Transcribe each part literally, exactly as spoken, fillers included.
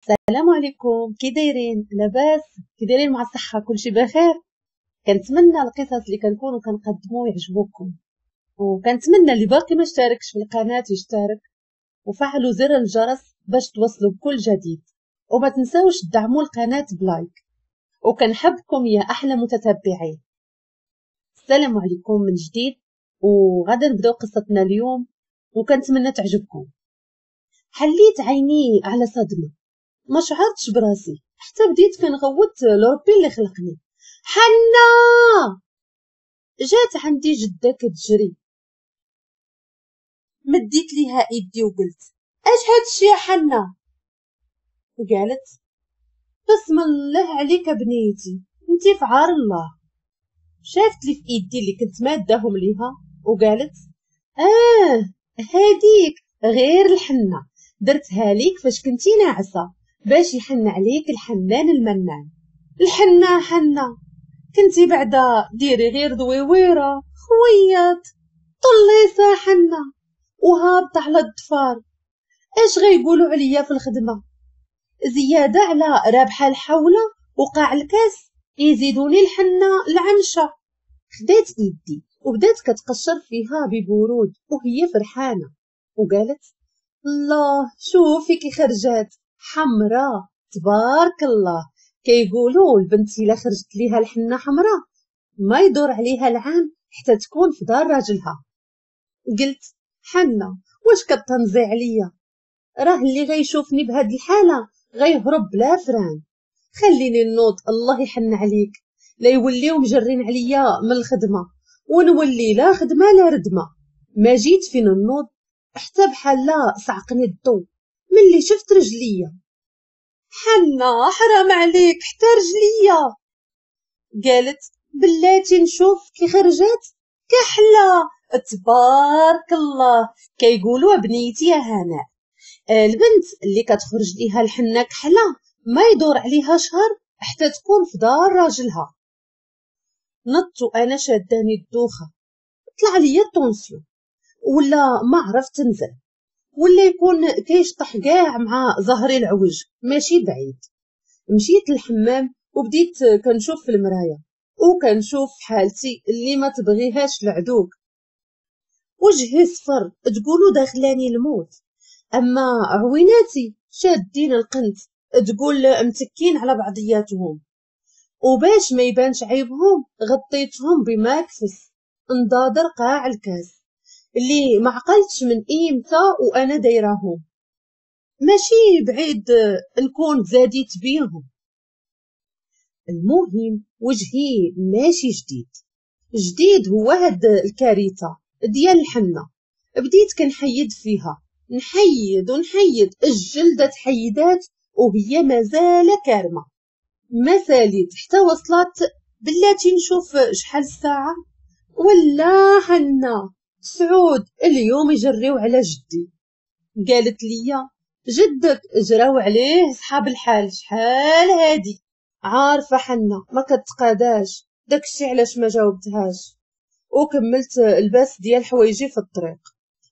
السلام عليكم، كي دايرين؟ لاباس؟ كي دايرين مع الصحة؟ كلشي بخير؟ كنتمنى القصص اللي كنكونوا كنقدموا يعجبوكم، وكنتمنى اللي باقي ما اشتركش في القناة يشترك وفعلوا زر الجرس باش توصلوا بكل جديد، وما تنساوش تدعموا القناة ب like، وكنحبكم يا احلى متتبعين. السلام عليكم من جديد، وغادا نبداو قصتنا اليوم وكنتمنى تعجبكم. حليت عيني على صدمة، ما شعرتش براسي حتى بديت كنغوت لربي اللي خلقني. حنا! جات عندي جده كتجري، مديت ليها ايدي وقلت اش هادشي يا حنا؟ قالت بسم الله عليك بنيتي، انتي في عار الله. شافت لي في ايدي اللي كنت ماداهم ليها وقالت اه هاديك غير الحنة درتها ليك فاش كنتي ناعسه باش يحن عليك الحنان المنان. الحنة حنة كنتي بعدا ديري غير دويويره خويط طليسه حنة وهابطه على الضفار، اش غيقولوا عليا في الخدمة؟ زيادة على رابحه الحوله وقاع الكاس يزيدوني الحنة العمشه. خدات ايدي وبدات كتقشر فيها ببرود وهي فرحانة وقالت الله شوفي كي خرجات حمراء تبارك الله. كيقولوا البنت الا خرجت ليها الحنة حمراء ما يدور عليها العام حتى تكون في دار راجلها. قلت حنة واش كتنزي عليا؟ راه اللي غيشوفني بهاد الحالة غيهرب بلا فران. خليني نوض الله يحن عليك، لا يوليو مجرين عليا من الخدمة ونولي لا خدمة لا ردمه. ما جيت فين نوض حتى بحال لا صعقني الضو ملي شفت رجليا. حنا حرام عليك حتى رجليا. قالت بلاتي نشوف كي خرجات كحلة تبارك الله. كيقولوا بنيتي يا هناء البنت اللي كتخرج ليها الحنة كحلة ما يدور عليها شهر حتى تكون في دار راجلها. نط وانا شاداني الدوخه، طلع ليا ال tension ولا ما عرفت نزل، ولا يكون كيشطح كاع مع ظهري العوج ماشي بعيد. مشيت للحمام وبديت كنشوف في المراية وكنشوف حالتي اللي ما تبغيهاش العدوك. وجهي صفر تقولوا داخلاني الموت، اما عويناتي شادين القنت تقول متكين على بعضياتهم، وباش ما يبانش عيبهم غطيتهم بماكفس نضادر قاع الكاس اللي ما عقلتش من ايمتى وانا دايراهم، ماشي بعيد نكون زاديت بيهم. المهم وجهي ماشي جديد، جديد هو هاد الكارثة ديال الحنة. بديت كنحيد فيها، نحيد ونحيد، الجلدة تحيدات وهي مازال كارمه. ما ساليت حتى وصلت بلاتي نشوف شحال الساعة ولا حنة سعود اليوم يجريو على جدي. قالت لي جدك جراو عليه صحاب الحال شحال هادي. عارفه حنة ما كتقاداش، داكشي علاش ما جاوبتهاش وكملت الباس ديال حوايجي في الطريق.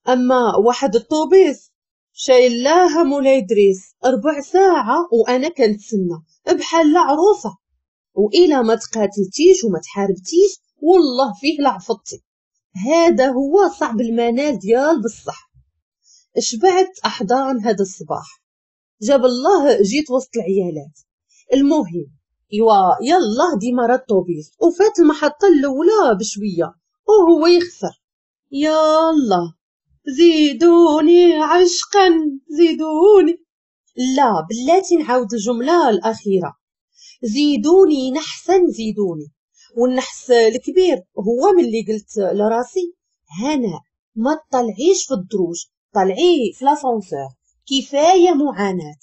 اما واحد الطوبيس شايل لها مولاي دريس ربع ساعة وانا كنتسنى بحال عروسه، والى ما تقاتلتيش وما تحاربتيش والله فيه لعفطتي. هذا هو صعب المنال ديال بصح. شبعت احضان هذا الصباح، جاب الله جيت وسط العيالات. المهم ايوا يلا ديما راه الطوبيس وفات المحطة الاولى بشوية وهو يخسر. يلا زيدوني عشقا زيدوني، لا بلاتي نعاود الجملة الاخيرة، زيدوني نحسن زيدوني. والنحس الكبير هو ملي قلت لراسي هنا ما تطلعيش في الدروج، طلعي في l'ascenseur كفاية معاناة.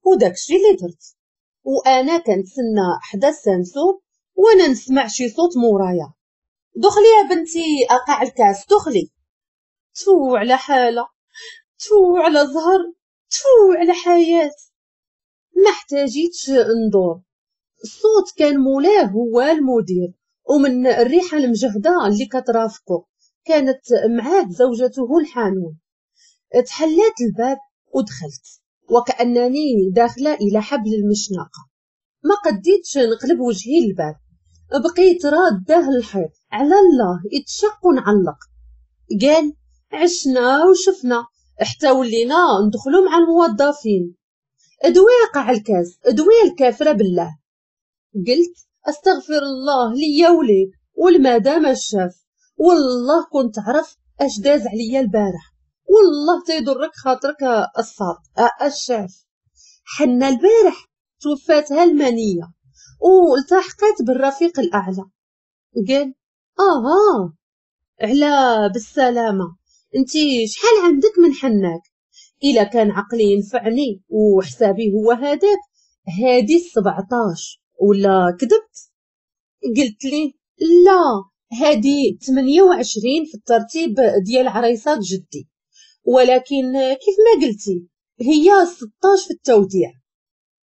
وداكشي اللي درت، وانا كنتسنى حدا السانسور وانا نسمع شي صوت مورايا، دخلي يا بنتي اقع الكاس دخلي. تفو على حاله، تفو على زهر، تفو على حياة. ما احتاجيتش ندور، الصوت كان مولاه هو المدير، ومن الريحة المجهده اللي كترافقه كانت معاه زوجته الحانون. تحلات الباب ودخلت وكأنني داخلة إلى حبل المشنقة. ما قديتش نقلب وجهي للباب، بقيت راداه الحيط على الله يتشق ونعلق. قال عشنا وشفنا حتى ولينا ندخلوا مع الموظفين. ادوي قاع الكاس، ادوي الكافرة بالله. قلت استغفر الله ليا وليك والمدام الشاف، والله كنت عرف اش داز عليا البارح، والله تيضرك خاطرك الصاد الشاف. حنا البارح توفاتها المنية والتحقت بالرفيق الاعلى. قال اها على بالسلامة، انتي شحال عندك من حناك؟ الا كان عقلي ينفعني وحسابي هو هذاك، هادي سبعطاش ولا كذبت؟ قلت لي لا، هادي ثمانية وعشرين في الترتيب ديال عريسات جدي، ولكن كيف ما قلتي هي ستاش في التوديع.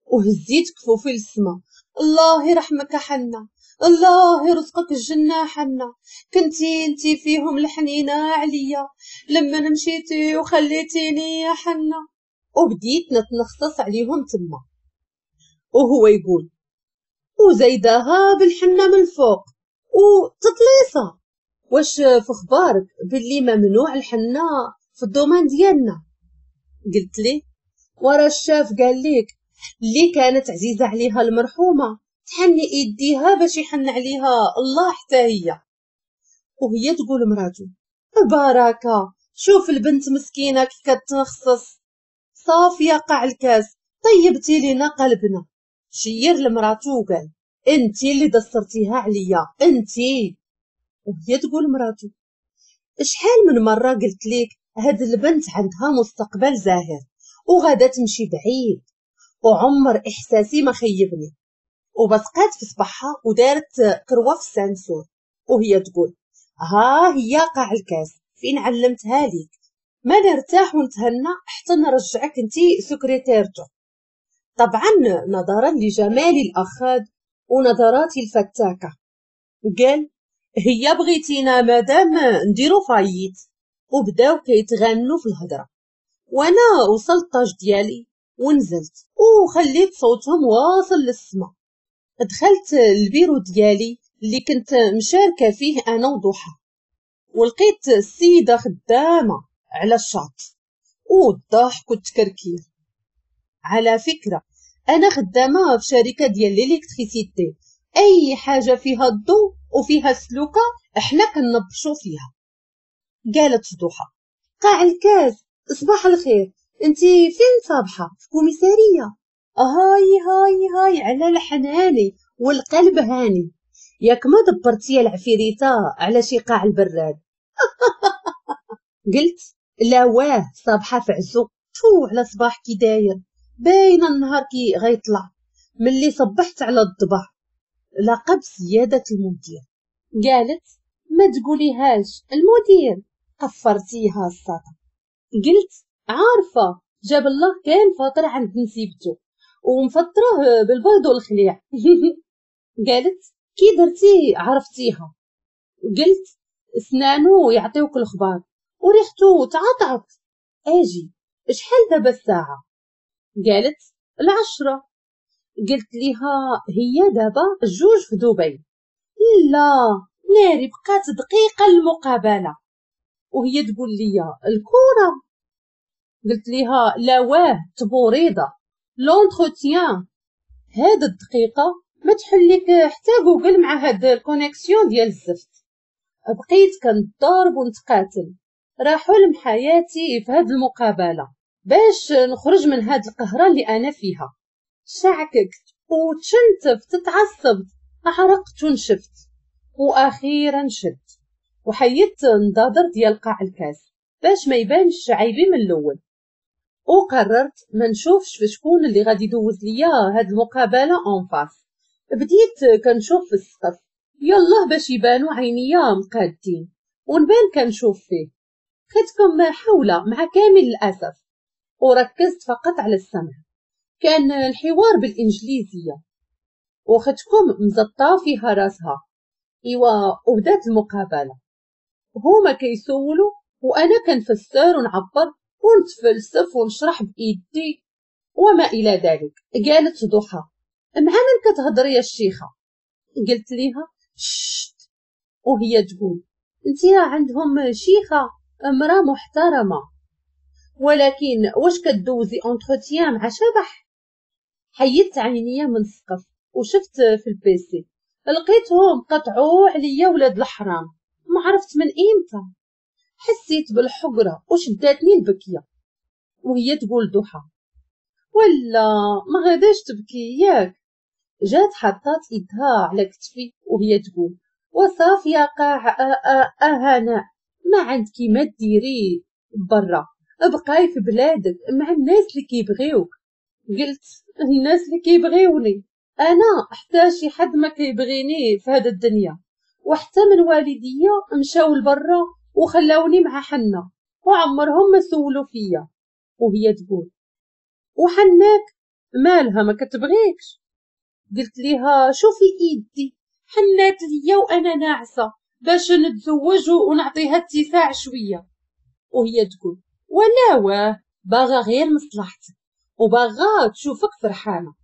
وهزيت كفوفي للسما، الله يرحمك حنا، الله يرزقك الجنة حنا، كنتي انتي فيهم الحنينة عليا لما مشيتي وخليتيني يا حنا. وبديت نتنخصص عليهم تما، وهو يقول وزايداها بالحنة من فوق وتطليصة. واش في اخبارك باللي ممنوع الحنة في ال domaine ديالنا؟ قلت لي ورا الشاف قال لك اللي كانت عزيزة عليها المرحومة تحني ايديها باش يحن عليها الله حتى هي. وهي تقول مراته بركة، شوف البنت مسكينة كي كتنخصص، صافية قاع الكاس، طيبتي لينا قلبنا. شير لمراتو وقال انتي اللي دسرتيها عليا انتي. وهي تقول مراتو شحال من مرة قلت لك هاد البنت عندها مستقبل زاهر وغادا تمشي بعيد، وعمر احساسي ما خيبني. وبسقات في صباحها ودارت كروه في ال ceinture، وهي تقول ها هي قاع الكاس فين علمتها ليك، ما نرتاح ونتهنى حتى نرجعك انتي سكرتيرتو. طبعا نظرا لجمال الاخاد ونظراتي الفتاكة. قال هي بغيتينا مادام نديرو faillite. وبداو كيتغنوا في الهضرة، وانا وصلت طاج ديالي ونزلت وخليت صوتهم واصل للسما. دخلت البيرو ديالي اللي كنت مشاركة فيه انا وضحى، ولقيت السيدة خدامه على الشاط والضحك والتكركير. على فكرة انا خدامه في شركة ديال l'électricité، اي حاجة فيها الضوء وفيها السلوكه احنا كنبشو فيها. قالت ضحى قاع الكاس صباح الخير، انتي فين صابحه؟ في commissariat. هاي هاي هاي على الحناني والقلب هاني، ياك ما دبرتي العفيريته على شي قاع البراد؟ قلت لا واه صابحه في عزو، تو على صباح كي داير، باينة النهار كي غيطلع. ملي صبحت على الضبع لقب سيادة المدير. قالت ما تقوليهاش المدير، قفرتيها الساطه. قلت عارفه جاب الله كان فاطر عند نسيبته ومفطره بالبيض والخليع. قالت كي درتي عرفتيها؟ قلت سنانو يعطيوك الخبار وريحتو تعطعط. اجي شحال دابا الساعة؟ قالت العشرة. قلت ليها هي دابا جوج في دبي. لا ناري بقات دقيقة المقابلة. وهي تقول لي الكره. قلت ليها لا واه تبوريضه l'entretien. هاد الدقيقة ما تحليك حتى جوجل مع هاد ال connexion ديال الزفت. بقيت كنضرب ونتقاتل، راه حلم حياتي في هاد المقابلة باش نخرج من هاد القهره اللي انا فيها. شعككت وتشنتفت تعصبت، عرقت ونشفت، واخيرا شدت وحيدت نضادر ديال قاع الكاس باش ما يبانش عيبي من الاول. وقررت ما نشوفش في شكون اللي غادي يدوز ليا هاد المقابلة en face. بديت كنشوف في السقف يلا باش يبانو عينيا مقادين ونبان كنشوف فيه. خدتكم حوله مع كامل الاسف، وركزت فقط على السمع. كان الحوار بالانجليزية وختكم مزطه فيها راسها. ايوا وبدات المقابلة، هما كيسولوا وانا كنفسر ونعبر ونتفلسف ونشرح بايدي. وما الى ذلك. قالت ضحى مع من كتهضري يا الشيخه؟ قلت ليها شت، وهي تقول انت راه عندهم شيخه امراة محترمه، ولكن واش كدوزي entretien مع شبح؟ حيدت عينيا من السقف وشفت في ال PC، لقيتهم قطعوا عليا ولاد الحرام، ما عرفت من امتى. حسيت بالحقره وشداتني البكيه. وهي تقول ضحى ولا ما غاداش تبكي ياك؟ جات حطات ايدها على كتفي وهي تقول وصافي يا قاع اهانا، ما عندك ما ديري برا، ابقاي في بلادك مع الناس اللي كيبغيوك. قلت الناس اللي كيبغيوني انا حتى شي حد ما كيبغيني في هذا الدنيا، وحتى من والديا مشاو لبرا وخلاوني مع حنا وعمرهم ما سولوا فيا. وهي تقول وحناك مالها ما كتبغيكش؟ قلت ليها شوفي ايدي حنات ليا وانا ناعسه باش نتزوج ونعطيها اتساع شوية. وهي تقول ولا واه باغا غير مصلحتك وباغا تشوفك فرحانة.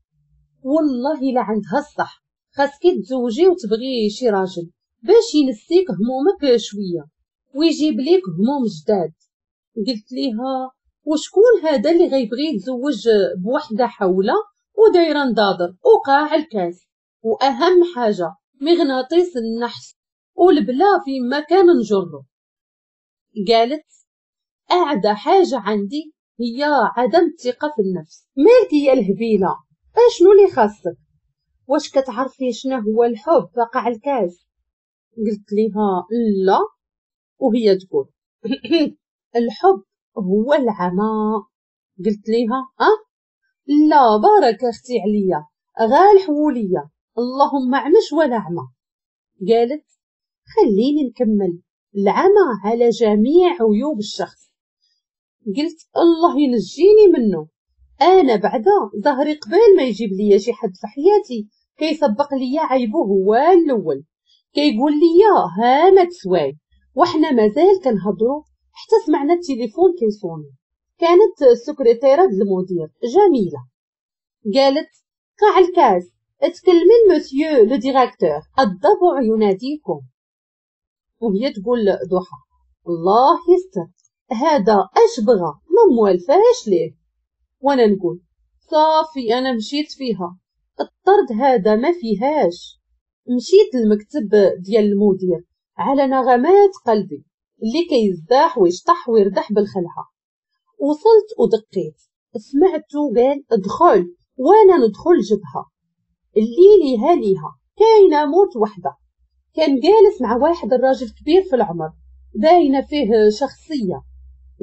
والله الا عندها الصح، خاصك تزوجي وتبغي شي راجل باش ينسيك همومك شوية ويجيب ليك هموم جداد. قلت ليها وشكون هذا اللي غيبغي يتزوج بوحده حوله ودايره نضادر وقاع الكاس، واهم حاجة مغناطيس النحس والبلا في مكان نجرو. قالت اعدى حاجة عندي هي عدم الثقة في النفس. مالك يا الهبيله، اشنو اللي خاصك؟ واش كتعرفي شنو هو الحب قاع الكاس؟ قلت ليها لا. وهي تقول الحب هو العمى. قلت ليها اه لا بارك اختي عليا غال حوليه، اللهم عمش ولا عمى. قالت خليني نكمل، العمى على جميع عيوب الشخص. قلت الله ينجيني منه، انا بعدا ظهري قبل ما يجيب ليا شي حد في حياتي كيسبق ليا عيبه هو الاول، كيقول ليا ها ما تسواي. وحنا مازال كنهضروا حتى سمعنا التليفون كيصوني. كانت السكرتيره ديال المدير جميلة. قالت قاع الكاس اتكلمي monsieur le directeur، الضبع يناديكم. وهي تقول ضحى الله يستر، هذا اش بغى ما موالفاش ليه. وانا نقول صافي انا مشيت فيها، الطرد هذا ما فيهاش. مشيت للمكتب ديال المدير على نغمات قلبي اللي كيزداح ويشطح ويردح بالخلعه. وصلت ودقيت، سمعته قال ادخل، وانا ندخل جبهة اللي ليها ليها كاينه موت وحده. كان جالس مع واحد الراجل كبير في العمر باينة فيه شخصية.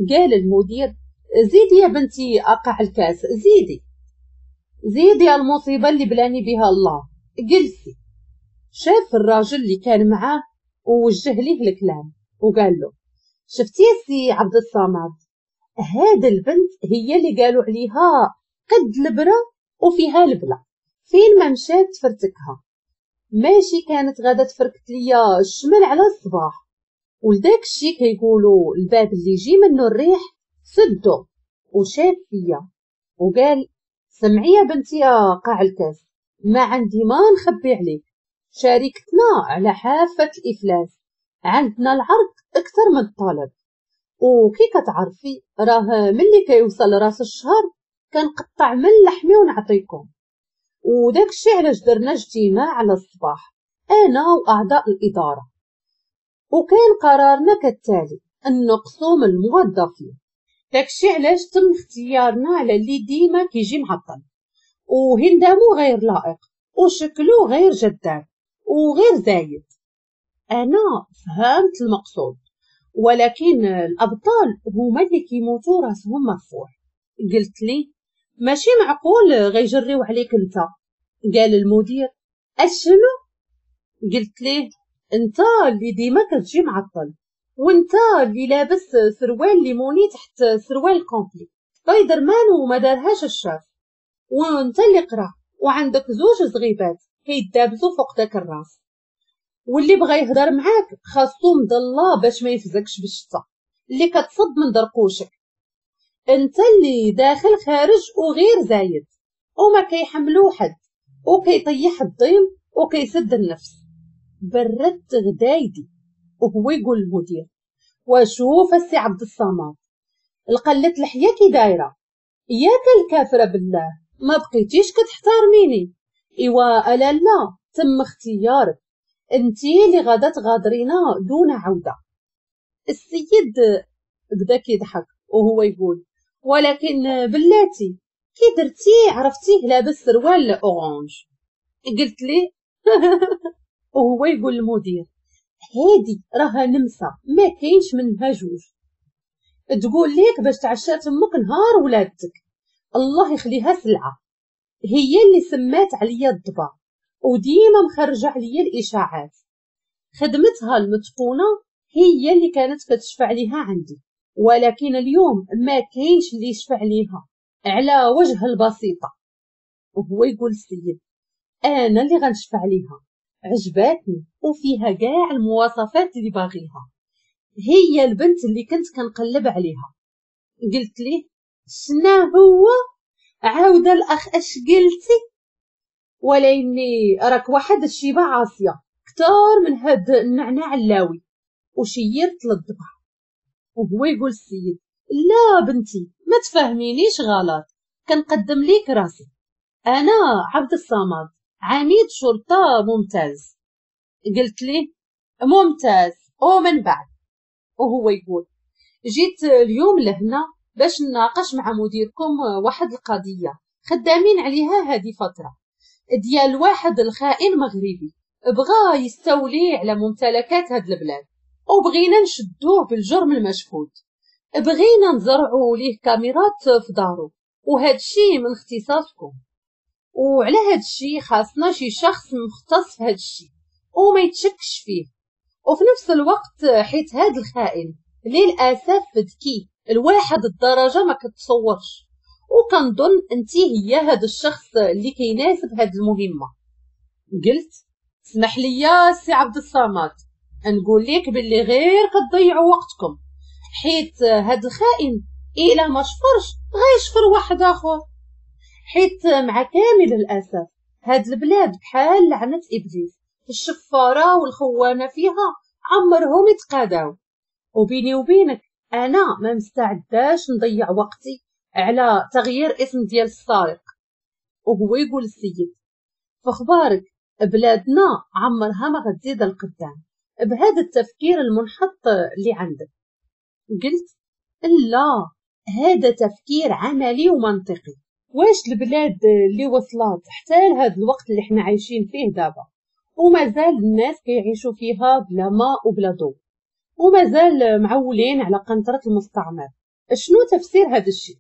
قال المدير زيدي يا بنتي اقع الكاس، زيدي زيدي المصيبة اللي بلاني بها الله، جلسي. شاف الراجل اللي كان معاه ووجه ليه الكلام وقال له شفتي يا سي عبد الصمد، هاد البنت هي اللي قالوا عليها قد البرة وفيها البلا، فين ما مشات تفرتكها، ماشي كانت غادا تفركت ليا الشمال على الصباح. ولداك الشي كيقولوا الباب اللي يجي منه الريح سدو. وشاف فيا وقال سمعي يا بنتي يا قاع الكاس، ما عندي ما نخبي عليك، شاركتنا على حافة الإفلاس، عندنا العرض أكثر من الطلب، وكي كتعرفي راه ملي كيوصل راس الشهر كنقطع من لحمي ونعطيكم. وداك الشي علاش درنا اجتماع على الصباح انا واعضاء الادارة، وكان قرارنا كالتالي نقصوا من الموظفين. داكشي علاش تم اختيارنا على اللي ديما كيجي معطل وهندامو غير لائق وشكلو غير جذاب وغير زايد. انا فهمت المقصود، ولكن الابطال هما اللي كيموتوا راسهم مرفوع. قلت لي ماشي معقول غيجريو عليك انت. قال المدير اشنو؟ قلت ليه انت اللي ديما كتجي معطل، وانت اللي لابس سروال ليموني تحت سروال complet سبايدر مان وما دارهاش الشاف، وانت اللي قرا وعندك زوج زغيبات كيدابزو فوق داك الراس، واللي بغى يهضر معاك خاصو مضلة باش ما يفزكش بالشتا اللي كتصب من درقوشك. انت اللي داخل خارج وغير زايد وما كيحملو حد وكيطيح الضيم وكيسد النفس. بردت غدايدي. وهو يقول المدير وشوف السي عبد الصمد القلة الحيا كي دايرة، ياك الكافرة بالله ما بقيتيش كتحترميني. ايوا الا لا تم اختيارك، انتي اللي غادا تغادرينا دون عوده. السيد بدا كيضحك وهو يقول ولكن بلاتي كي درتي عرفتيه لابس سروال orange. قلت لي وهو يقول المدير هادي راها نمسه ما كاينش منها جوج، تقول ليك باش تعشات امك نهار ولادتك، الله يخليها سلعه، هي اللي سمات عليا الضبع وديما مخرجه عليا الاشاعات، خدمتها المتقونه هي اللي كانت كتشفع ليها عندي، ولكن اليوم ما كاينش اللي يشفع ليها على وجه البسيطة. وهو يقول السيد انا اللي غنشفع ليها، عجباتني وفيها كاع المواصفات اللي باغيها، هي البنت اللي كنت كنقلب عليها. قلت ليه شنا هو؟ عاود الاخ اش قلتي؟ ولاني راك واحد الشيبة عاصية كتار من هاد النعناع اللاوي. وشيرت للضبع. وهو يقول السيد لا بنتي ما تفهمينيش غلط، كنقدم ليك راسي، انا عبد الصمد عميد شرطه ممتاز. قلت ليه ممتاز ومن بعد؟ وهو يقول جيت اليوم لهنا باش نناقش مع مديركم واحد القضية خدامين عليها هذه فترة ديال واحد الخائن مغربي بغى يستولي على ممتلكات هاد البلاد، وبغينا نشدوه بالجرم المشهود، بغينا نزرعوا ليه كاميرات في دارو، وهاد الشيء من اختصاصكم، وعلى هاد الشيء خاصنا شي شخص مختص في هاد الشيء وما يتشكش فيه، وفي نفس الوقت حيت هاد الخائن للاسف ذكي الواحد الدرجة ما كتصورش، وكنظن انت هي هاد الشخص اللي كيناسب هاد المهمة. قلت اسمح لي يا سي عبد الصمد نقول لك باللي غير كتضيعوا وقتكم، حيت هاد الخائن الا ما شفرش غيشفر واحد اخر، حيت مع كامل الاسف هاد البلاد بحال لعنه ابليس، الشفاره والخوانه فيها عمرهم يتقاداو. وبيني وبينك انا ما مستعداش نضيع وقتي على تغيير اسم ديال السارق. وهو يقول السيد فخبارك بلادنا عمرها ما غتزيد القدام بهذا التفكير المنحط اللي عندك. قلت لا، هذا تفكير عملي ومنطقي. واش البلاد اللي وصلت حتى لهذا الوقت اللي حنا عايشين فيه دابا ومازال الناس كيعيشوا فيها بلا ماء وبلا ضوء ومازال معولين على قنطرة المستعمر، شنو تفسير هذا الشيء؟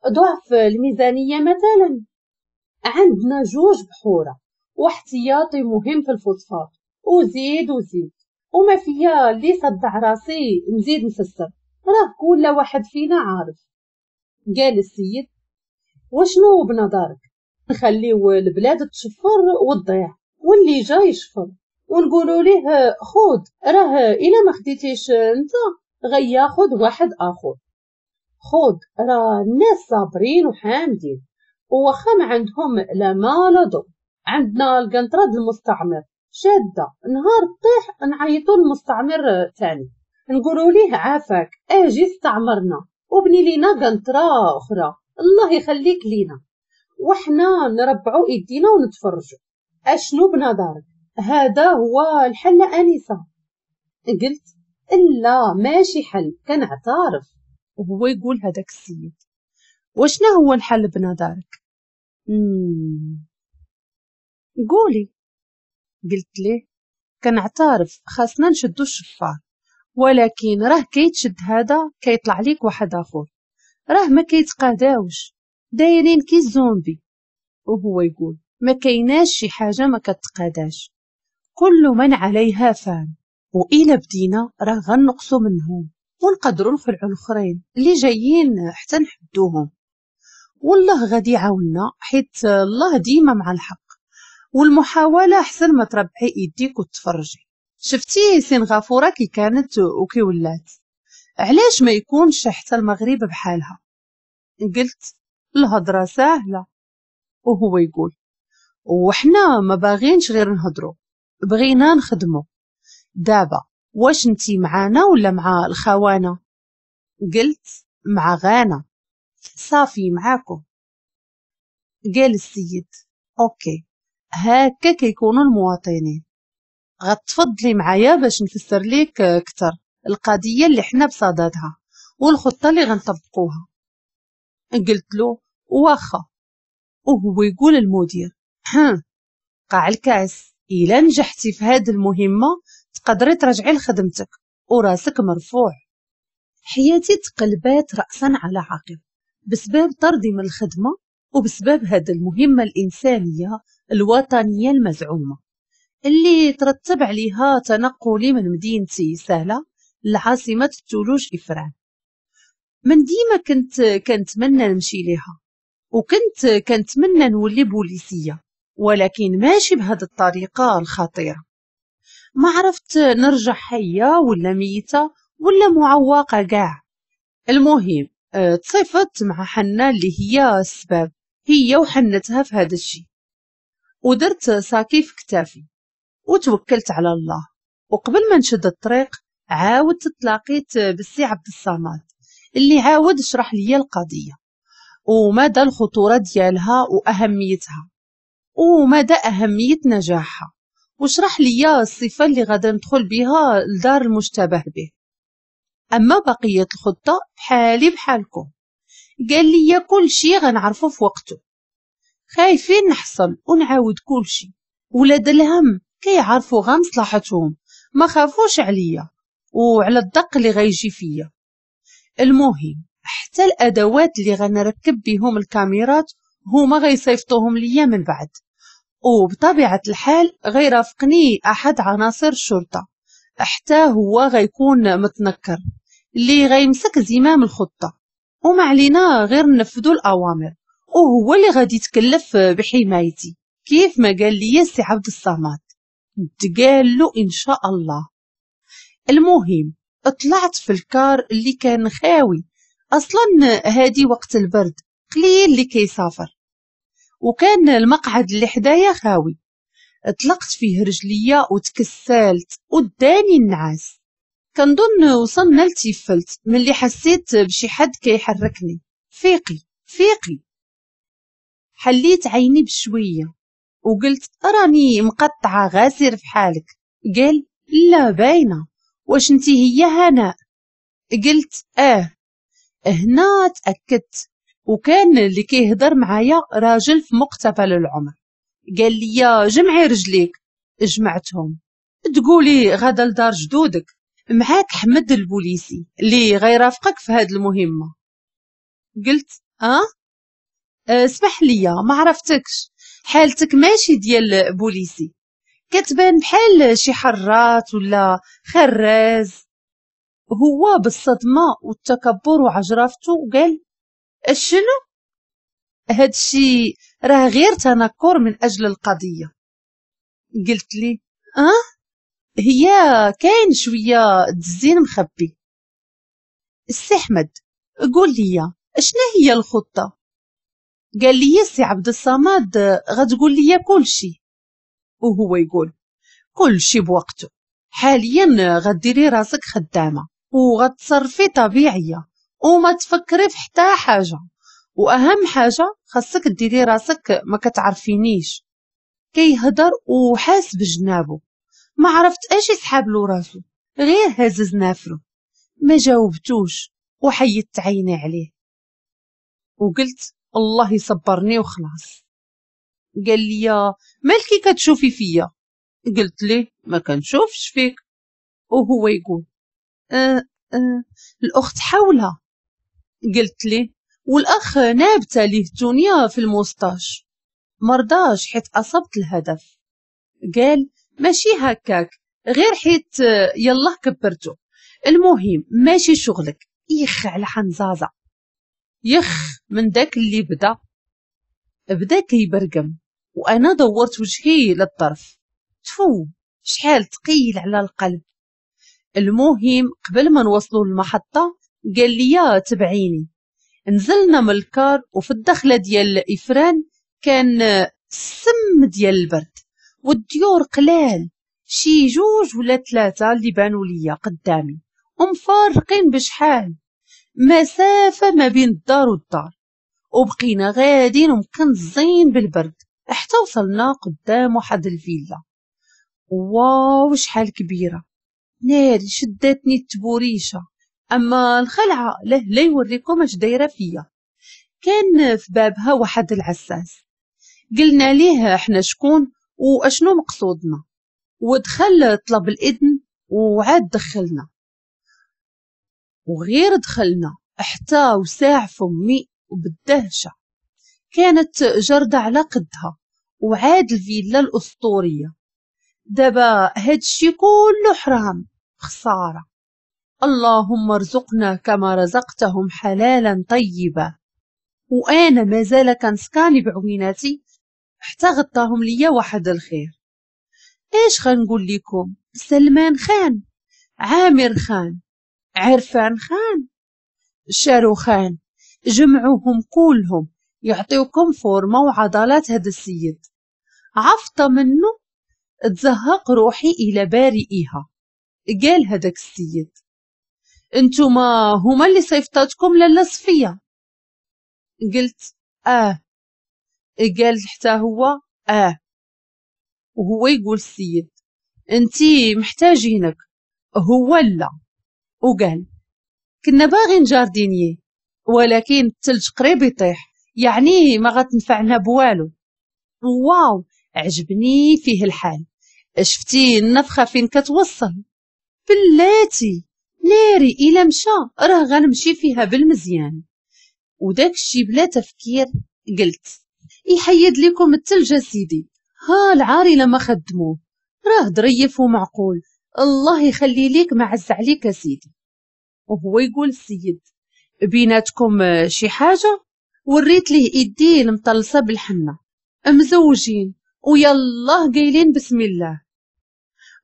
ضعف الميزانية مثلا، عندنا جوج بحورة واحتياطي مهم في الفوسفات، وزيد وزيد، وما فيا اللي صدع راسي نزيد نفسر، راه كل واحد فينا عارف. قال السيد وشنو بنظرك؟ نخليو البلاد تشفر وتضيع واللي جا يشفر ونقولوا ليه خود، راه الا ما خديتيش انت غياخد واحد اخر، خود راه الناس صابرين وحامدين وواخا ما عندهم لا ما لا ضو، عندنا القنطرة المستعمر شاده، نهار طيح نعيطوا للمستعمر تاني نقولوا ليه عافاك اجي استعمرنا وبني لينا قنطرة اخرى الله يخليك لينا، وحنا نربعوا ايدينا ونتفرجوا. اشنو بنظرك هذا هو الحل انسه؟ قلت لا ماشي حل، كنعترف. وهو يقول هذاك السيد وشنا هو الحل بنظرك؟ مم. قولي. قلت ليه كنعترف خاصنا نشدو الشفار، ولكن راه كيتشد هذا كيطلع ليك واحد اخر، راه ما كيتقاداوش دايرين كي الزومبي. وهو يقول ما كايناش شي حاجة ما كتقاداش، كل من عليها فان، وإلا بدينا راه غنقصوا منهم ونقدروا نخلعوا الاخرين اللي جايين حتى نحدوهم، والله غادي يعاوننا حيت الله ديما مع الحق، والمحاوله احسن ما تربحي ايديك وتفرجي. شفتي سنغافورة كي كانت وكي ولات، علاش ما يكونش حتى المغرب بحالها؟ قلت الهضرة سهلة. وهو يقول وحنا ما باغينش غير نهضرو، بغينا نخدمو. دابا واش انتي معانا ولا مع الخوانه؟ قلت مع غانا. صافي معاكم. قال السيد OK، هكا كيكونوا المواطنين. غتفضلي معايا باش نفسر ليك اكثر القضية اللي حنا بصددها والخطه اللي غنطبقوها. قلت له واخا. وهو يقول المدير ها قاع الكاس، الا نجحتي في هذه المهمة تقدري ترجعي لخدمتك وراسك مرفوع. حياتي تقلبات راسا على عقب بسبب طردي من الخدمة وبسبب هذه المهمة الانسانية الوطنية المزعومة اللي ترتب عليها تنقلي من مدينتي سهلة لعاصمه الثلوج افران. من ديما كنت كنتمنى نمشي ليها، وكنت كنتمنى نولي بوليسيه، ولكن ماشي بهذه الطريقة الخطيرة. ما عرفت نرجع حيه ولا ميته ولا معوقه كاع. المهم تصيفت مع حنا اللي هي السبب، هي وحنتها في هذا الشيء، ودرت ساكي في كتافي وتوكلت على الله. وقبل ما نشد الطريق عاودت تلاقيت بالسي عبد الصمد اللي عاود شرح لي القضية ومدى الخطورة ديالها واهميتها ومدى اهمية نجاحها، وشرح لي الصفة اللي غادا ندخل بها لدار المشتبه به. اما بقية الخطة بحالي بحالكم، قال لي كل شيء غنعرفه في وقته. خايفين نحصل ونعاود كل شيء. ولاد الهم كيعرفوا غا مصلحتهم، ما خافوش عليا وعلى الدق اللي غيجي فيا. المهم حتى الادوات اللي غنركب بهم الكاميرات هما غيصيفطوهم ليا من بعد، وبطبيعة الحال غيرافقني احد عناصر الشرطة حتى هو غيكون متنكر اللي غيمسك زمام الخطة، وما علينا غير ننفذوا الاوامر، وهو اللي غادي يتكلف بحمايتي كيف ما قال لي السي عبد الصمد. تقال له ان شاء الله. المهم طلعت في الكار اللي كان خاوي اصلا، هادي وقت البرد قليل اللي كيسافر، وكان المقعد اللي حدايا خاوي. طلقت فيه رجليا وتكسلت وداني النعاس. كنظن وصلنا لتيفلت ملي حسيت بشي حد كيحركني. فيقي فيقي. حليت عيني بشوية وقلت راني مقطعه غاسر في حالك. قال لا باينة، واش انتي هي هناء؟ قلت اه. هنا تاكدت، وكان اللي كيهضر معايا راجل في مقتبل العمر. قال لي جمعي رجليك. جمعتهم. تقولي غدا لدار جدودك، معاك حمد البوليسي اللي غيرافقك في هاد المهمة. قلت اه, اسمح لي ما عرفتكش، حالتك ماشي ديال بوليسي، كتبان بحال شي حرات ولا خراز. هو بالصدمة والتكبر وعجرفته قال شنو هادشي؟ راه غير تنكر من اجل القضية. قلت لي اه هي كاين شوية الزين مخبي. السي احمد قول لي شنو هي الخطة؟ قال لي السي عبد الصمد غتقول لي كل شيء. وهو يقول كل شيء بوقته، حاليا غديري راسك خدامه وغتصرفي طبيعية وما تفكري في حتى حاجة، واهم حاجة خاصك ديري راسك ما كتعرفينيش. كيهضر وحاس بجنابه، ما عرفت اش يسحب له راسو، غير هزز نافرو. ما جاوبتوش وحيدت عيني عليه وقلت الله يصبرني وخلاص. قال لي مالكي كتشوفي فيا؟ قلت ليه ما كنشوفش فيك. وهو يقول أه أه الاخت حولها. قلت ليه والاخ نابته ليه التونيه في ال moustache. مرضاش حيت اصبت الهدف. قال ماشي هكاك، غير حيت يلا كبرتو. المهم ماشي شغلك. يخ على حنزازه، يخ من داك اللي بدا بدا كيبرقم، وانا دورت وجهي للطرف. تفو شحال ثقيل على القلب. المهم قبل ما نوصلوا للمحطة قال لي تبعيني. نزلنا من الكار، وفي الدخلة ديال إفران كان السم ديال البرد والديور قلال، شي جوج ولا ثلاثة اللي بانوا ليا قدامي ومفارقين بشحال مسافة ما بين الدار والدار. وبقينا غادين ومكنزين بالبرد حتى وصلنا قدام واحد الفيلا. واو شحال كبيرة، ناري شدتني التبوريشة، أما الخلعة له لا يوريكم اش دايرة فيا. كان في بابها واحد العساس، قلنا ليه احنا شكون واشنو مقصودنا، ودخل طلب الإذن وعاد دخلنا. وغير دخلنا حتى وساع فمي وبالدهشة، كانت جردة على قدها وعاد الفيلا الأسطورية. دابا هادشي كله حرام، خسارة. اللهم ارزقنا كما رزقتهم حلالا طيبا. وأنا مازال كنسكاني بعويناتي حتى غطاهم ليا واحد الخير. ايش غنقول لكم؟ سلمان خان، عامر خان، عرفان خان، شاروخان، جمعوهم كلهم يعطيوكم فورمة وعضلات هذا السيد. عفطة منه تزهق روحي إلى بارئها. قال هذاك السيد انتوما هما اللي صيفطاتكم لاله صفية. قلت اه. قال حتى هو اه. وهو يقول السيد انتي محتاجينك، هو لا. وقال كنا باغين jardinier ولكن الثلج قريب يطيح، يعني ما غتنفعنا بوالو. واو عجبني فيه الحال، شفتي النفخة فين كتوصل؟ بلاتي ناري إلا مشى راه غنمشي فيها بالمزيان. وداك الشي بلا تفكير قلت يحيد لكم الثلج سيدي، ها العار إلا ما خدموه راه ظريف ومعقول، الله يخلي ليك ما عز عليك سيدي. وهو يقول السيد بيناتكم شي حاجة؟ وريت ليه ايديه المطلسة بالحنة، مزوجين ويالله قايلين بسم الله.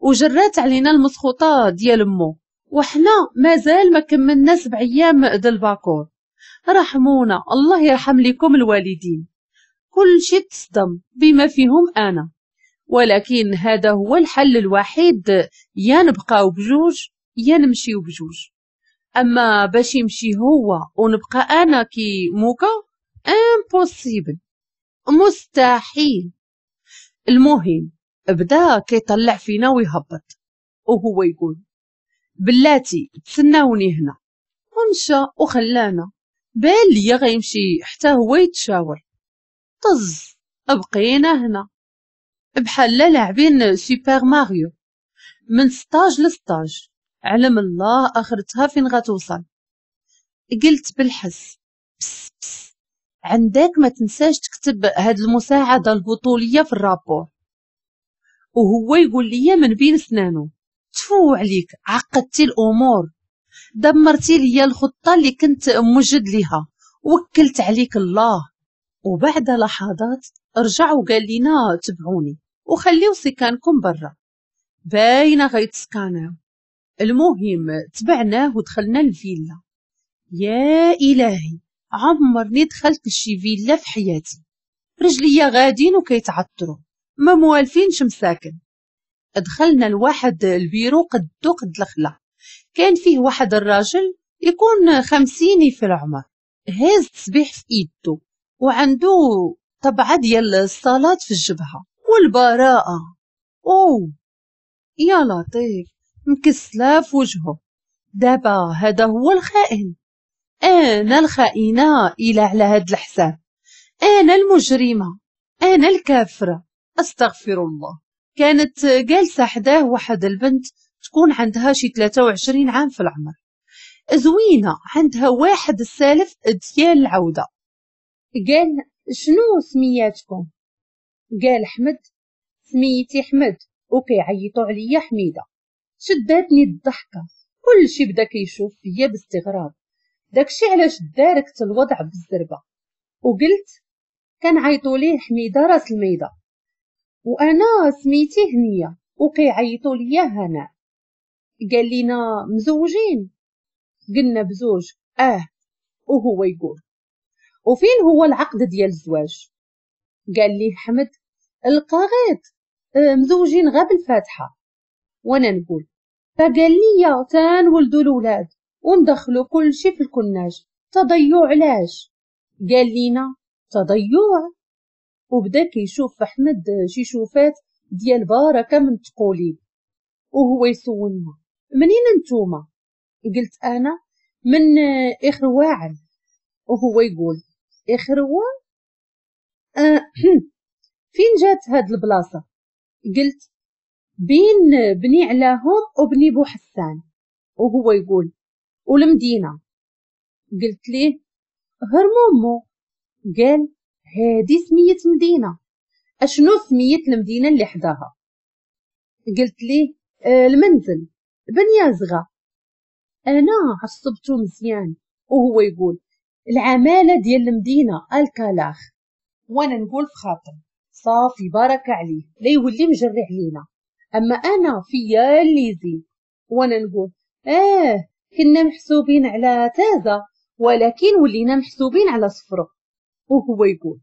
وجرات علينا المسخوطة ديال امو، وحنا مازال ما كملنا سبع ايام د الباكور. رحمونا الله يرحم لكم الوالدين. كل شي تصدم بما فيهم انا، ولكن هذا هو الحل الوحيد، يا نبقاو بجوج يا نمشيو بجوج. اما باش يمشي هو ونبقى انا كي موكا impossible، مستحيل. المهم بدا كيطلع فينا ويهبط وهو يقول بلاتي تسناوني هنا، ومشى وخلانا. بان ليا غيمشي حتى هو يتشاور. طز بقينا هنا بحال لاعبين سوبر ماريو من stage ل stage، علم الله اخرتها فين غتوصل. قلت بالحس بس بس عندك ما تنساش تكتب هاد المساعدة البطولية في ال rapport. وهو يقول لي من بين سنانو تفو عليك، عقدتي الامور، دمرتي لي الخطة اللي كنت موجد ليها، وكلت عليك الله. وبعد لحظات رجع وقال لنا تبعوني وخليو سكانكم برا، باينة غيتسكاناو. المهم تبعناه ودخلنا الفيلا. يا إلهي عمرني دخلت لشي فيلا في حياتي، رجليا غادين وكيتعطروا ما موالفينش مساكن. دخلنا لواحد البيرو قدو قد الخلا، كان فيه واحد الراجل يكون خمسيني في العمر، هاز تسبيح في ايدو وعنده طبعة ديال الصلاة في الجبهة والبراءة. أوه يا لطيف مكسلة في وجهه. دابا هذا هو الخائن، أنا الخائنة إلى على هاد الحساب، أنا المجرمة، أنا الكافرة، أستغفر الله. كانت جالسة حداه واحد البنت تكون عندها شي ثلاثة وعشرين عام في العمر، زوينة، عندها واحد السالف ديال العودة. قال شنو سمياتكم؟ قال حمد. سميتي حمد وكيعيطوا عليا حميدة. شداتني الضحكة، كل شي بدا كيشوف فيا باستغراب، داكشي علاش داركت الوضع بالزربة وقلت كنعيطوا ليه حميدة راس الميدة، وانا سميتي هنية وكيعيطوا ليا هناء. قال لنا مزوجين؟ قلنا بزوج اه. وهو يقول وفين هو العقد ديال الزواج؟ قال لي حمد القاغيط آه مزوجين غا بالفاتحة. وانا نقول فقال لي تنولدوا الولاد وندخلوا كل شي في الكناج، تضيع علاش؟ قال لينا تضيع. وبدا كيشوف في حمد شي شوفات ديال بركة من التقوليب. وهو يسولنا منين نتوما؟ قلت انا من اخرواعل. وهو يقول اخروا أه فين جات هاد البلاصة؟ قلت بين بني علاهم وبني بوحسان. وهو يقول والمدينة؟ قلت ليه هرمومو. قال هادي سمية مدينة. اشنو سمية المدينة اللي حداها؟ قلت ليه آه المنزل بنيازغه. انا عصبته مزيان. وهو يقول العمالة ديال المدينة الكلاخ. وانا نقول في خاطر صافي بركة عليه لا يولي مجري علينا، اما انا فيا اللي يزيد. وانا نقول اه كنا محسوبين على تازه ولكن ولينا محسوبين على صفرو. وهو يقول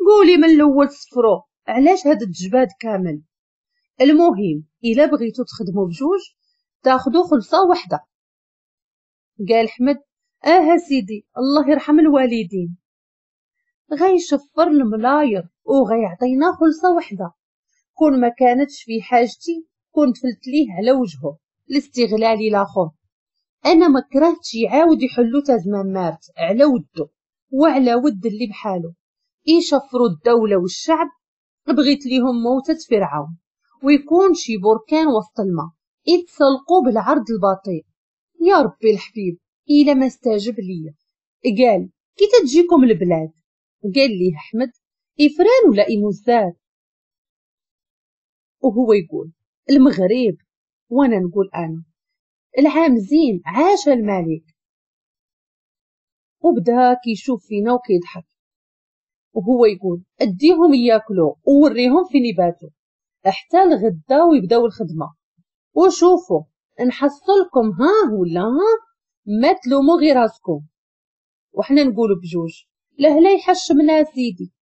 قولي من الاول صفرو، علاش هاد التجباد كامل؟ المهم الا بغيتو تخدموا بجوج تاخذوا خلصه وحده. قال حمد اه سيدي الله يرحم الوالدين، غيشفر الملاير وغيعطينا خلصه وحده. كون ما كانتش في حاجتي كنت فلت ليه على وجهه الاستغلالي لاخر. انا ما كرهتش يعاود يحلو تازمان مارت على ودو وعلى ود اللي بحالو يشفروا الدولة والشعب. بغيت ليهم موتة فرعون ويكون شي بركان وسط الماء يتسلقوا بالعرض البطيء. يا ربي الحبيب إلا ما استجب ليا. قال كي تجيكم البلاد؟ قال لي احمد إفران ولا إموزار؟ وهو يقول المغرب. وانا نقول انا العام زين عاش الملك. وبدا كيشوف فينا وكيضحك. وهو يقول اديهم ياكلوا ووريهم فين يباتوا حتى الغدا ويبداو الخدمة، وشوفوا نحصلكم ها ولا ها ما تلوموا غير راسكم. وحنا نقولوا بجوج لا لا يحشمنا سيدي.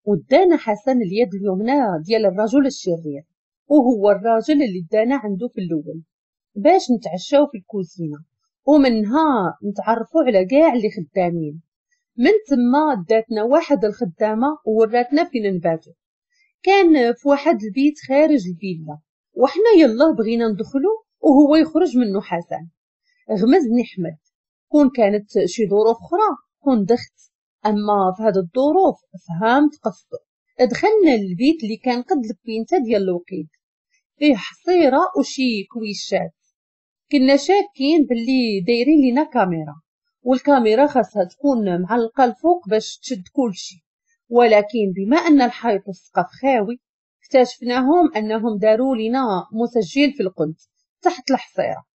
ودانا حسن اليد اليمنى ديال الرجل الشرير، وهو الراجل اللي دانا عنده في الاول باش نتعشاو في الكوزينة ومنها نتعرفوا على كاع اللي خدامين. من تما داتنا واحد الخدامة ووراتنا فين نباتو. كان في واحد البيت خارج الفيلا، وحنا يلا بغينا ندخلو وهو يخرج منه حسن. غمزني حمد، كون كانت شي ظروف اخرى كون دخت، اما في هاد الظروف فهمت قصده. دخلنا للبيت اللي كان قد البينته ديال الوقيد، فيه حصيره وشي كويشات. كنا شاكين باللي دايرين لينا كاميرا، والكاميرا خاصها تكون معلقه الفوق باش تشد كلشي، ولكن بما ان الحيط والسقف خاوي اكتشفناهم انهم داروا لنا مسجل في القنت تحت الحصيرة.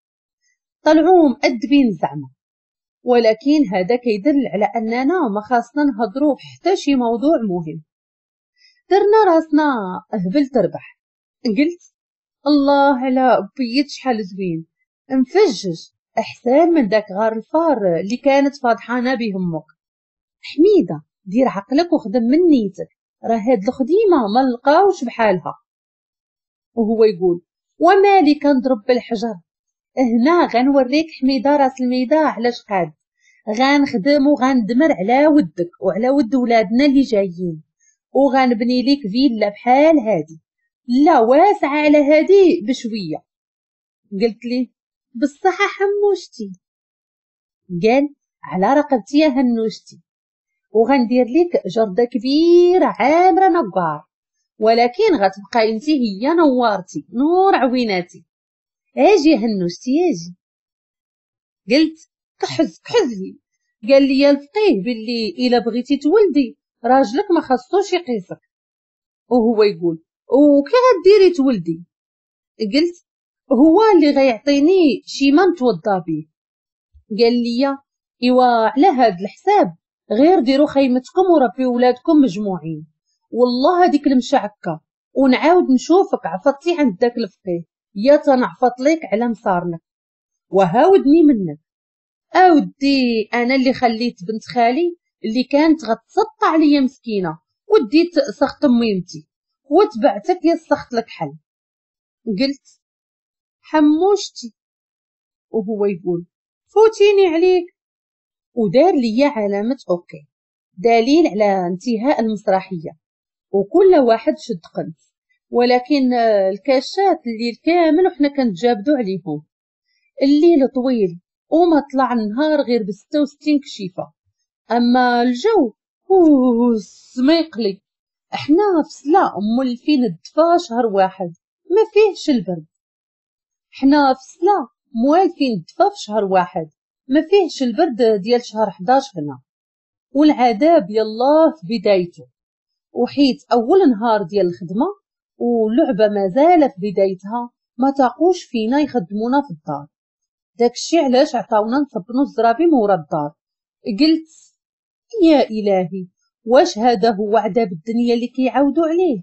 طلعوا مؤدبين زعما، ولكن هذا كيدل على اننا ما خاصنا نهضروا في حتى شي موضوع مهم. درنا راسنا هبل تربح. قلت الله على بيت شحال زوين مفجج، احسن من داك غار الفار اللي كانت فاضحانه به امك. حميده دير عقلك وخدم من نيتك، راه هاد الخديمه ما لقاوش بحالها. وهو يقول ومالي كنضرب بالحجر هنا، غنوريك حميده راس الميده علاش قاد، غنخدم وغندمر على ودك وعلى ود ولادنا اللي جايين، وغنبني ليك فيلا بحال هادي، لا واسعة على هادي بشوية. قلت ليه بالصحة حموشتي. قال على رقبتي يا هنوشتي، وغندير ليك جرده كبيرة عامرة نقار، ولكن غتبقاي انت هي نوارتي نور عويناتي. اجي هنوشتي اجي. قلت كحز كحز لي. قال لي الفقيه باللي الا بغيتي تولدي راجلك ما خصوش يقيسك. وهو يقول وكي غديري تولدي؟ قلت هو اللي غيعطيني شي ما نتوضا به. قال لي ايوا على هاد الحساب غير ديروا خيمتكم وربيو ولادكم مجموعين، والله هذيك المشعكه ونعاود نشوفك عفطتي عند داك الفقيه يا تنعفط ليك على مصارنك. وهاودني منك. اودي انا اللي خليت بنت خالي اللي كانت غتسطع عليا مسكينه، وديت سخط ميمتي وتبعتك يا السخط الكحل. قلت حموشتي، وهو يقول فوتيني عليك، ودار ليا علامة OK دليل على انتهاء المسرحية، وكل واحد شد قنت. ولكن الكاشات الليل كامل وحنا كنتجابدو عليهم. الليل طويل وما طلع النهار غير بستة وستين كشيفة. اما الجو اوه سميقلي، احنا في سلا مولفين الدفا شهر واحد ما فيهش البرد. حنا في سلا موالفين الدفا في شهر واحد ما فيهش البرد ديال شهر حداش هنا، والعذاب يلاه في بدايته. وحيت اول نهار ديال الخدمة واللعبة مازال في بدايتها، ما تاقوش فينا يخدمونا في الدار. داكشي علاش عطاونا نصبنو الزرابي مورا الدار. قلت يا الهي، واش هذا هو عذاب الدنيا اللي كيعاودوا عليه؟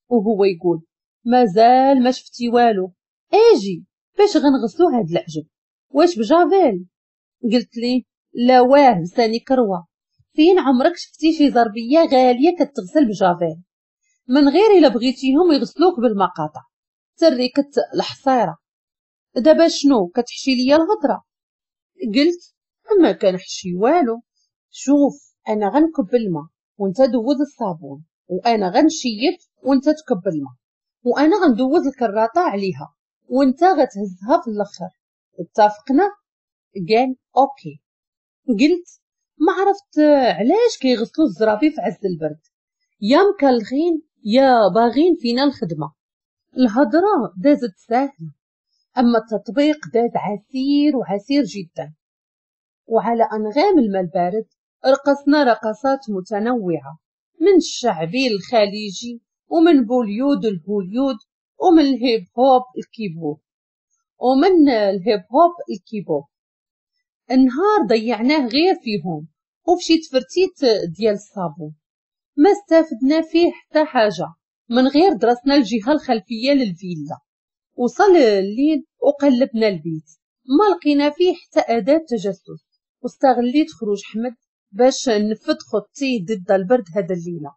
وهو يقول مازال ما شفتي والو، اجي باش غنغسلو هاد العجب، واش بجافيل؟ قلت ليه لا واه لساني كروه، فين عمرك شفتي شي زربيه غالية كتغسل بجافيل؟ من غير الا بغيتيهم يغسلوك بالمقاطع تريكت الحصيرة. دابا شنو كتحشي ليا الهضرة؟ قلت ما كنحشي والو، شوف انا غنكب الماء وانت دوز الصابون، وانا غنشيت وانت تكب الماء، وانا غندوز الكراطه عليها وانت غتهزها في الاخر، اتفقنا؟ قال OK. قلت ما عرفت علاش كيغسلوا الزرابي في عز البرد، يا مكلخين يا باغين فينا الخدمة. الهضرة دازت ساهله، اما التطبيق داز عسير وعسير جدا. وعلى انغام الماء البارد رقصنا رقصات متنوعة، من الشعبي الخليجي، ومن بوليود الهوليود، ومن الهيب هوب الكيبوب، ومن الهيب هوب الكيبوب. النهار ضيعناه غير فيهم وفشي تفرتيت ديال الصابون، ما استفدنا فيه حتى حاجة من غير درسنا الجهة الخلفية للفيلا. وصل الليل وقلبنا البيت، ما لقينا فيه حتى اداه تجسس. واستغليت خروج حمد باش نفذ خطتي ضد البرد هذا الليلة،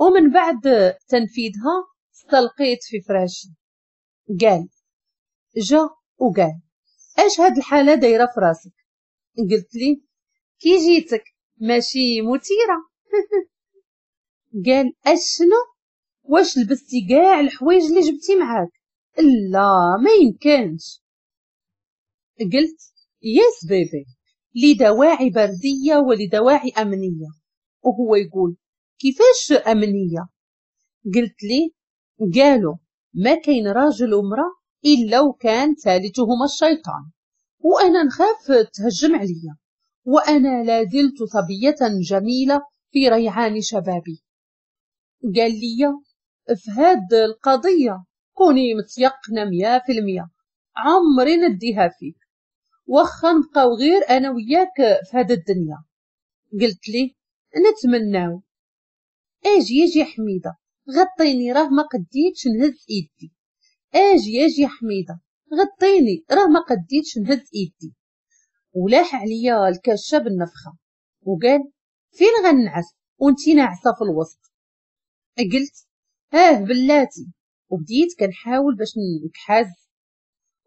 ومن بعد تنفيذها استلقيت في فراشي. قال جا وقال اش هاد الحالة دايرة في راسك؟ قلت لي كي جيتك ماشي مثيرة. قال اشنو، واش لبستي كاع الحوايج اللي جبتي معاك؟ لا ما يمكنش. قلت yes baby، لدواعي برديه ولدواعي امنية. وهو يقول كيفاش امنية؟ قلت لي قالوا ما كاين راجل ومراة الا وكان ثالثهما الشيطان، وانا نخاف تهجم عليا، وانا لا زلت صبية جميلة في ريعان شبابي. قال لي في هاد القضية كوني متيقنه مية في المية، عمري نديها فيك، واخا نبقاو غير انا وياك في هاد الدنيا. قلت لي نتمناو. اجي اجي حميده غطيني راه ما قديتش نهز ايدي. اجي اجي حميده غطيني راه ما قديتش نهز ايدي. ولاح عليا الكاشه بالنفخه وقال فين غنعس وانتي ناعسه في الوسط؟ قلت اه بلاتي. وبديت كنحاول باش نكحز،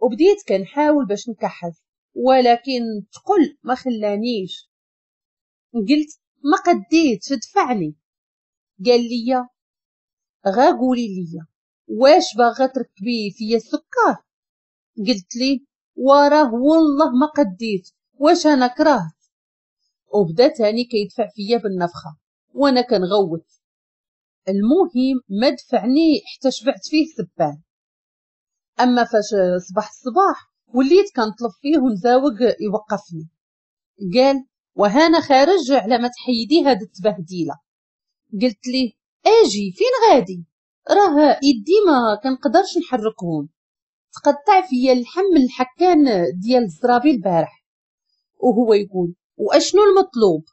وبديت كنحاول باش نكحز، ولكن تقل ما خلانيش. قلت ما قديتش دفعني. قال لي غا قولي لي واش باغا تركبي فيا السكر؟ قلت لي وراه والله ما قديت، واش انا كرهت؟ وبدا تاني كيدفع فيا بالنفخه وانا كنغوت. المهم ما دفعني حتى شبعت فيه سبان. اما فاش صباح الصباح وليت كنطلب فيه ونزاوق يوقفني. قال وهانا خارج على ما تحيدي هاد التبهديله. قلت ليه اجي فين غادي؟ راه يدي ما كنقدرش نحركهم، تقطع فيا اللحم من الحكان ديال الزرابي البارح. وهو يقول واشنو المطلوب؟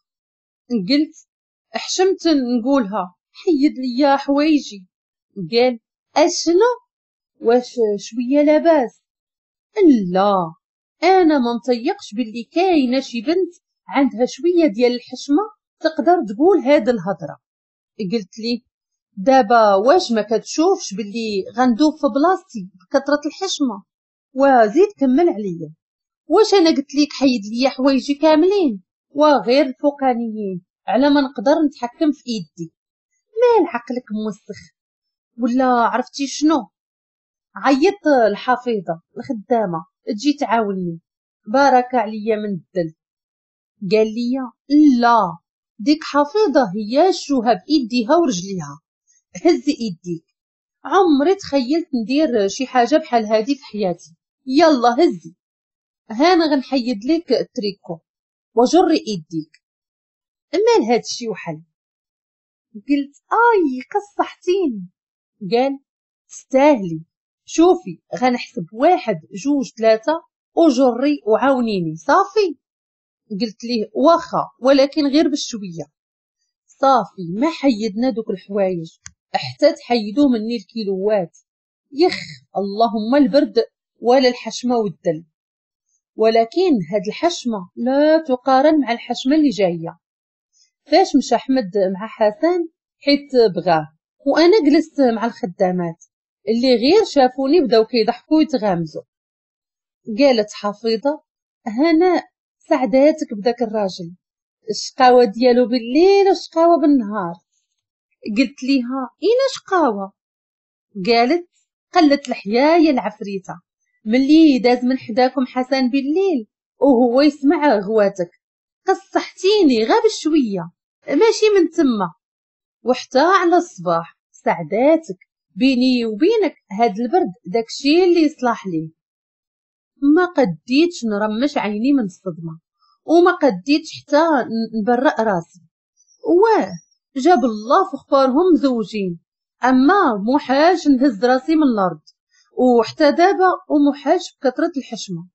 قلت حشمت نقولها، حيد ليا حوايجي. قال اشنو، واش شوية لاباس؟ لا انا ما نطيقش باللي كاينه شي بنت عندها شوية ديال الحشمة تقدر تقول هاد الهضرة. قلت لي دابا واش ما كتشوفش باللي غندوب في بلاصتي بكثرة الحشمة؟ وزيد كمل عليا، واش انا قلت ليك حيد ليا حوايجي كاملين وغير الفوقانيين على ما نقدر نتحكم في ايدي؟ مال عقلك موسخ ولا عرفتي شنو؟ عيط الحفيظه الخدامة تجي تعاوني، بارك عليا من الدل. قال لي لا، ديك حفيظة هي الشوهه بايديها ورجليها، هزي ايديك. عمري تخيلت ندير شي حاجة بحال هادي في حياتي، يلا هزي، هانا غنحيد لك التريكو وجري ايديك. مال هادشي وحل؟ قلت اي قصحتيني. قال تستاهلي، شوفي غنحسب واحد جوج ثلاثة وجري وعاونيني صافي. قلت ليه واخا، ولكن غير بالشويه. صافي ما حيدنا دوك الحوايج حتى تحيدو مني الكيلوات، يخ اللهم البرد ولا الحشمة والدل. ولكن هاد الحشمة لا تقارن مع الحشمة اللي جاية. فاش مشى احمد مع حسن حيت بغاة، وانا جلست مع الخدامات اللي غير شافوني بداو كيضحكوا ويتغامزوا. قالت حفيظة هناء سعداتك بداك الراجل، الشقاوة ديالو بالليل والشقاوة بالنهار. قلت ليها اين شقاوة؟ قالت قلت الحيايه العفريته، ملي داز من حداكم حسن بالليل وهو يسمع غواتك قصحتيني غا بشوية ماشي من تما وحتى على الصباح. سعداتك بيني وبينك هاد البرد داكشي اللي يصلح ليه. ما قديتش نرمش عيني من الصدمة وما قديتش حتى نبرأ راسي. واه جاب الله في اخبارهم مزوجين، اما محاج نهز راسي من الارض وحتى دابا ومحاج بكثرة الحشمة.